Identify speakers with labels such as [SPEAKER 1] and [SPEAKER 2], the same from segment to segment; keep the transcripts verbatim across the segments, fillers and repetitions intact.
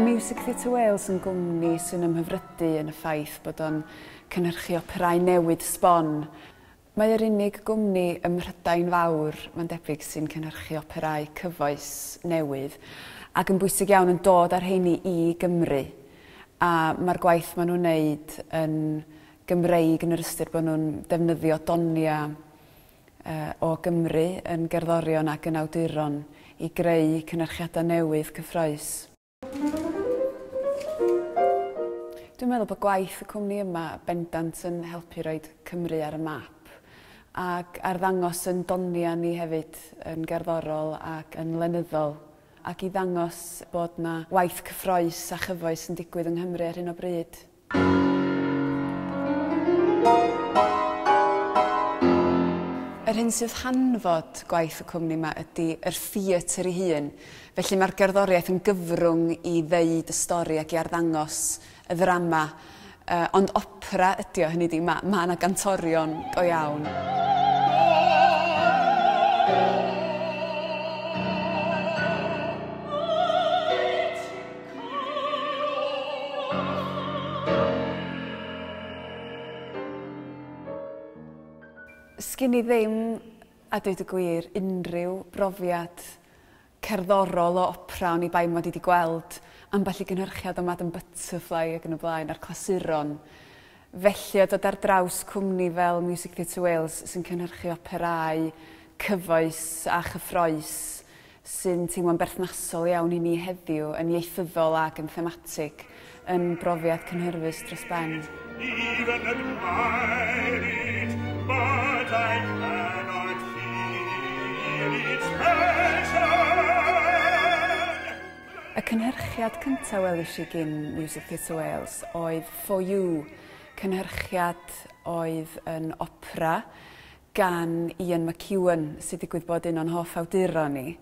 [SPEAKER 1] Mae Music Theatre Wales yn gwmni sy'n ymhyfrydu yn y ffaith bod o'n cynhyrchu operau newydd sbon. Mae yr unig gwmni ym Mhrydain Fawr, mae'n debyg, sy'n cynhyrchu operau cyfoes newydd ac yn bwysig iawn yn dod ar rheini i Gymru. A mae'r gwaith maen nhw'n wneud yn Gymreig yn yr ystyr bod nhw'n defnyddio donia uh, o Gymru yn gerddorion ac yn awduron i greu cynhyrchiadau newydd cyffrous. Dwi'n meddwl bod gwaith y cwmni yma bendant yn helpu roid Cymru ar y map ac arddangos yn donia ni hefyd yn gerddorol ac yn lenyddol ac i ddangos bod na waith cyffrous a chyfoes yn digwydd yng Nghymru ar hyn o bryd. Yr hyn sydd hanfod gwaith y cwmni yma ydy yr theatr ei hun. Felly mae'r gerddoriaeth yn gyfrwng i ddeud y stori ac i arddangos y ddrama. Uh, ond opera ydy o, hynny ydi, mae ma yna gantorion go iawn. Sgyn i ddim, a dweud y gwir, unrhyw brofiad cerddorol o opera o'n i bai mod i wedi gweld ambell i gynhyrchiad o Madame Butterfly ac yn y blaen a'r clasuron. Felly, o dod ar draws cwmni fel Music Theatre Wales sy'n cynhyrchu operau cyfoes a chyffrous sy'n teimlo'n berthnasol iawn i ni heddiw yn ieithyddol ac yn thematig yn brofiad cynhyrfus dros ben.
[SPEAKER 2] Even admire it, but I cannot feel its passion.
[SPEAKER 1] Y cynhyrchiad cyntaf welish i gyn Music Theatre Wales oedd For You, cynhyrchiad oedd yn opera gan Ian McEwan, sydd digwydd bod un o'n hoff awduron ni.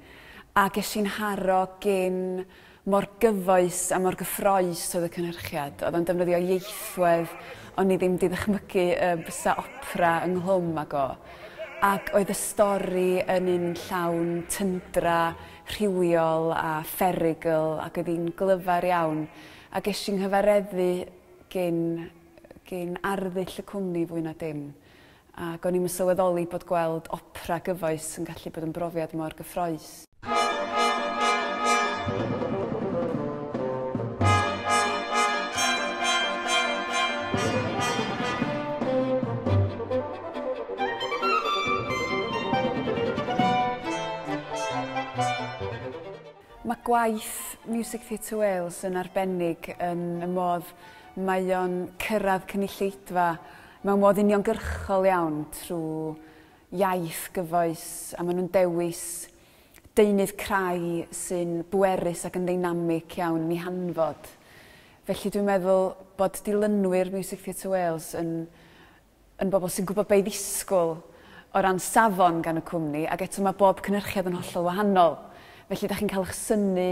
[SPEAKER 1] A ges i'n haro gyn mor gyfoes a mor gyffrous oedd y cynhyrchiad. Oedd o'n defnyddio ieithwedd, o'n i ddim 'di ddychmygu y bysa opera ynghlwm ag o. Ac oedd y stori yn un llawn tyndra, rhywiol a pherygl, ac oedd hi'n glyfar iawn. A ges i'n nghyfareddu gyn, gyn arddull y cwmni fwy na dim. Ac o'n i'm yn sylweddoli bod gweld opera gyfoes yn gallu bod yn brofiad mor gyffrous. Mae gwaith Music Theatre Wales yn arbennig yn y modd mae o'n cyrraedd cynulleidfa mewn modd uniongyrchol iawn trwy iaith gyfoes, a maen nhw'n dewis deunydd crai sy'n bwerus ac yn ddeinamig iawn yn ei hanfod. Felly dwi'n meddwl bod dilynwyr Music Theatre Wales yn, yn bobl sy'n gwybod be i ddisgwyl o ran safon gan y cwmni, ac eto mae bob cynhyrchiad yn hollol wahanol. Felly, da chi'n cael eich synnu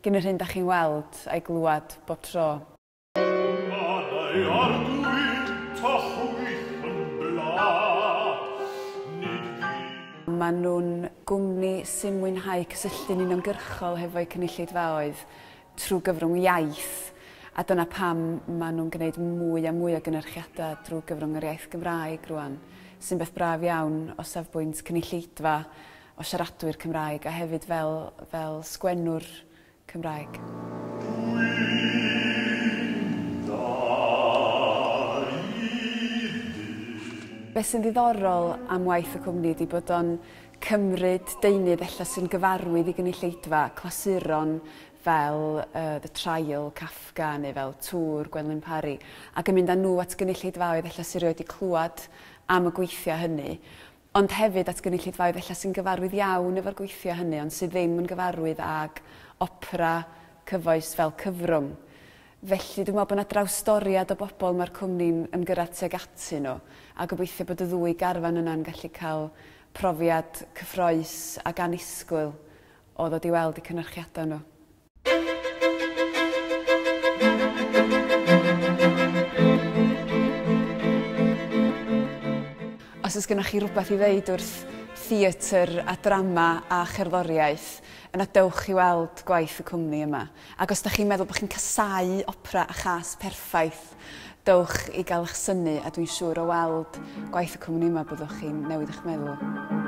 [SPEAKER 1] gan yr hyn da chi'n weld a'i glywed bob tro. Maen nhw'n gwmni sy'n mwynhau cysylltu'n uniongyrchol hefo'u cynulleidfaoedd trwy gyfrwng iaith, a dyna pam maen nhw'n gwneud mwy a mwy o gynhyrchiadau drwy gyfrwng yr iaith Gymraeg rwan, sy'n beth braf iawn o safbwynt cynulleidfa o siaradwyr Cymraeg a hefyd fel, fel sgwennwr Cymraeg. Be sy'n ddiddorol am waith y cwmni ydy bod o'n cymryd deunydd ella sy'n gyfarwydd i gynulleidfa, clasuron fel uh, The Trial, Kafka neu fel Tŵr, Gwenlyn Parry, ac yn mynd â nhw at gynulleidfaoedd ella sy'n rioed 'di clywed am y gweithiau hynny, ond hefyd at gynulleidfaoedd ella sy'n gyfarwydd iawn efo'r gweithiau hynny, ond sydd ddim yn gyfarwydd ag opera cyfoes fel cyfrwng. Felly dwi'n meddwl bod yna drawstoriad o bobl mae'r cwmni'n ymgyrraedd tuag atyn nhw, a gobeithio bod y ddwy garfan yna'n gallu cael profiad cyffrous ac annisgwyl o ddod i weld eu cynhyrchiadau nhw. Os oes gennych chi rhywbeth i ddeud wrth theatr a drama a cherddoriaeth, yna dewch i weld gwaith y cwmni yma. Ac os da chi'n meddwl bod chi'n casáu opera a chas perffaith, dewch i gael eich synnu, a dwi'n siŵr o weld gwaith y cwmni yma byddwch chi'n newid eich meddwl.